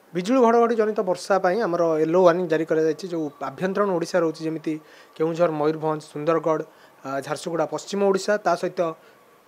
ବିଜୁଳି ଘଡ଼ଘଡ଼ି ଜନିତ ବର୍ଷା ପାଇଁ ଆମର ୟେଲୋ ୱାର୍ଣ୍ଣିଂ ଜାରି କରାଯାଇଛି। ଯେଉଁ ଆଭ୍ୟନ୍ତରୀଣ ଓଡ଼ିଶା ରହୁଛି, ଯେମିତି କେଉଁଝର, ମୟୂରଭଞ୍ଜ, ସୁନ୍ଦରଗଡ଼, ଝାରସୁଗୁଡ଼ା, ପଶ୍ଚିମ ଓଡ଼ିଶା, ତା ସହିତ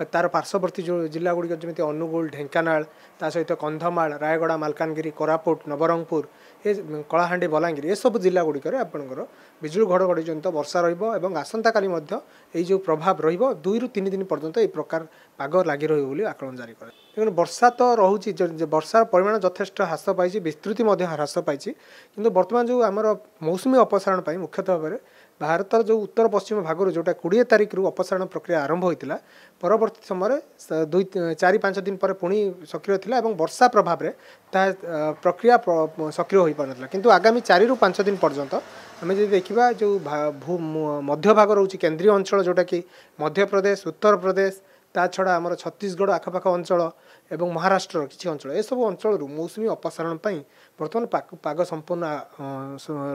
ତାର ପାର୍ଶ୍ୱବର୍ତ୍ତୀ ଯେଉଁ ଜିଲ୍ଲା ଗୁଡ଼ିକ ଯେମିତି ଅନୁଗୁଳ, ଢେଙ୍କାନାଳ, ତା ସହିତ କନ୍ଧମାଳ, ରାୟଗଡ଼ା, ମାଲକାନଗିରି, କୋରାପୁଟ, ନବରଙ୍ଗପୁର, ଏ କଳାହାଣ୍ଡି, ବଲାଙ୍ଗୀର, ଏସବୁ ଜିଲ୍ଲା ଗୁଡ଼ିକରେ ଆପଣଙ୍କର ବିଜୁଳି ଘଡ଼ଘଡ଼ି ଜନିତ ବର୍ଷା ରହିବ ଏବଂ ଆସନ୍ତାକାଲି ମଧ୍ୟ ଏଇ ଯେଉଁ ପ୍ରଭାବ ରହିବ, 2ରୁ 3 ଦିନ ପର୍ଯ୍ୟନ୍ତ ଏହି ପ୍ରକାର ପାଗ ଲାଗି ରହିବ ବୋଲି ଆକଳନ ଜାରି କରାଯାଇଛି। ଦେଖନ୍ତୁ, ବର୍ଷା ତ ରହୁଛି, ବର୍ଷାର ପରିମାଣ ଯଥେଷ୍ଟ ହ୍ରାସ ପାଇଛି, ବିସ୍ତୃତି ମଧ୍ୟ ହ୍ରାସ ପାଇଛି। କିନ୍ତୁ ବର୍ତ୍ତମାନ ଯେଉଁ ଆମର ମୌସୁମୀ ଅପସାରଣ ପାଇଁ ମୁଖ୍ୟତଃ ଭାବରେ ଭାରତର ଯେଉଁ ଉତ୍ତର ପଶ୍ଚିମ ଭାଗରୁ ଯେଉଁଟା 20 ତାରିଖରୁ ଅପସାରଣ ପ୍ରକ୍ରିୟା ଆରମ୍ଭ ହୋଇଥିଲା, ପରବର୍ତ୍ତୀ ସମୟରେ 2, 4, 5 ଦିନ ପରେ ପୁଣି ସକ୍ରିୟ ଥିଲା ଏବଂ ବର୍ଷା ପ୍ରଭାବରେ ତାହା ପ୍ରକ୍ରିୟା ସକ୍ରିୟ ହୋଇପାରୁନଥିଲା। କିନ୍ତୁ ଆଗାମୀ 4ରୁ 5 ଦିନ ପର୍ଯ୍ୟନ୍ତ ଆମେ ଯଦି ଦେଖିବା, ଯେଉଁ ମଧ୍ୟଭାଗ ରହୁଛି, କେନ୍ଦ୍ରୀୟ ଅଞ୍ଚଳ, ଯେଉଁଟାକି ମଧ୍ୟପ୍ରଦେଶ, ଉତ୍ତରପ୍ରଦେଶ, ତା ଛଡ଼ା ଆମର ଛତିଶଗଡ଼ ଆଖପାଖ ଅଞ୍ଚଳ ଏବଂ ମହାରାଷ୍ଟ୍ରର କିଛି ଅଞ୍ଚଳ, ଏସବୁ ଅଞ୍ଚଳରୁ ମୌସୁମୀ ଅପସାରଣ ପାଇଁ ବର୍ତ୍ତମାନ ପାଗ ସମ୍ପୂର୍ଣ୍ଣ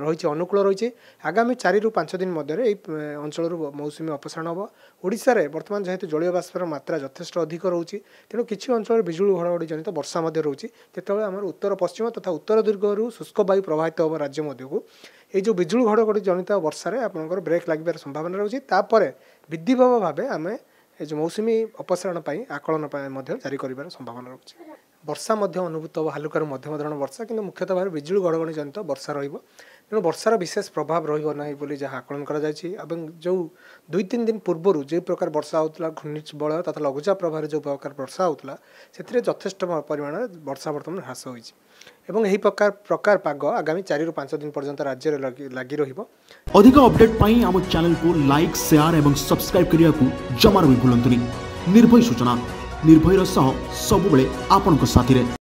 ରହିଛି, ଅନୁକୂଳ ରହିଛି। ଆଗାମୀ 4ରୁ 5 ଦିନ ମଧ୍ୟରେ ଏଇ ଅଞ୍ଚଳରୁ ମୌସୁମୀ ଅପସାରଣ ହେବ। ଓଡ଼ିଶାରେ ବର୍ତ୍ତମାନ ଯେହେତୁ ଜଳୀୟ ବାଷ୍ପର ମାତ୍ରା ଯଥେଷ୍ଟ ଅଧିକ ରହୁଛି, ତେଣୁ କିଛି ଅଞ୍ଚଳରେ ବିଜୁଳି ଘଡ଼ଘଡ଼ି ଜନିତ ବର୍ଷା ମଧ୍ୟ ରହୁଛି। ଯେତେବେଳେ ଆମର ଉତ୍ତର ପଶ୍ଚିମ ତଥା ଉତ୍ତର ଦିଗରୁ ଶୁଷ୍କ ବାୟୁ ପ୍ରବାହିତ ହେବ ରାଜ୍ୟ ମଧ୍ୟକୁ, ଏଇ ଯେଉଁ ବିଜୁଳି ଘଡ଼ଘଡ଼ି ଜନିତ ବର୍ଷାରେ ଆପଣଙ୍କର ବ୍ରେକ୍ ଲାଗିବାର ସମ୍ଭାବନା ରହୁଛି। ତାପରେ ବିଧିବଦ୍ଧ ଭାବେ ଆମେ ଏ ଯେଉଁ ମୌସୁମୀ ଅପସାରଣ ପାଇଁ ଆକଳନ ପାଇଁ ମଧ୍ୟ ଜାରି କରିବାର ସମ୍ଭାବନା ରହୁଛି। ବର୍ଷା ମଧ୍ୟ ଅନୁଭୂତ ହେବ, ହାଲୁକାରୁ ମଧ୍ୟମ ଧରଣ ବର୍ଷା, କିନ୍ତୁ ମୁଖ୍ୟତଃ ଭାବରେ ବିଜୁଳି ଘଡ଼ଘଡ଼ି ଜନିତ ବର୍ଷା ରହିବ। ତେଣୁ ବର୍ଷାର ବିଶେଷ ପ୍ରଭାବ ରହିବ ନାହିଁ ବୋଲି ଯାହା ଆକଳନ କରାଯାଇଛି। ଏବଂ ଯେଉଁ 2 3 ଦିନ ପୂର୍ବରୁ ଯେଉଁ ପ୍ରକାର ବର୍ଷା ହେଉଥିଲା, ଘୂର୍ଣ୍ଣିବଳୟ ତଥା ଲଘୁଚାପ ପ୍ରଭାବରେ ଯେଉଁ ପ୍ରକାର ବର୍ଷା ହେଉଥିଲା, ସେଥିରେ ଯଥେଷ୍ଟ ପରିମାଣରେ ବର୍ଷା ବର୍ତ୍ତମାନ ହ୍ରାସ ହୋଇଛି ଏବଂ ଏହି ପ୍ରକାର ପାଗ ଆଗାମୀ 4ରୁ 5 ଦିନ ପର୍ଯ୍ୟନ୍ତ ରାଜ୍ୟରେ ଲାଗି ରହିବ। ଅଧିକ ଅପଡେଟ୍ ପାଇଁ ଆମ ଚ୍ୟାନେଲକୁ ଲାଇକ୍, ସେୟାର ଏବଂ ସବସ୍କ୍ରାଇବ୍ କରିବାକୁ ଜମାରୁ ବି ଭୁଲନ୍ତୁନି। ନିର୍ଭୟ ସୂଚନା, ନିର୍ଭୟର ସହ ସବୁବେଳେ ଆପଣଙ୍କ ସାଥିରେ।